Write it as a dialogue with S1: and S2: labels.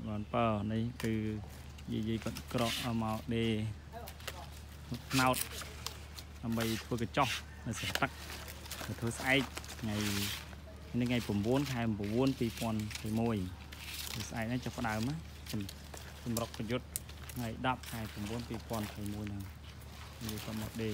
S1: បានបើនេះគឺយាយគាត់ក្រក់មកដេផ្នោតដើម្បីធ្វើកញ្ចោះនៅស្រះទឹកធ្វើស្អែកថ្ងៃនេះថ្ងៃ9ខែ9 2021ស្អែកនេះចាប់ផ្ដើមសម្រុកប្រយុទ្ធថ្ងៃ10ខែ9 2021ហ្នឹងនិយាយគាត់មកដេ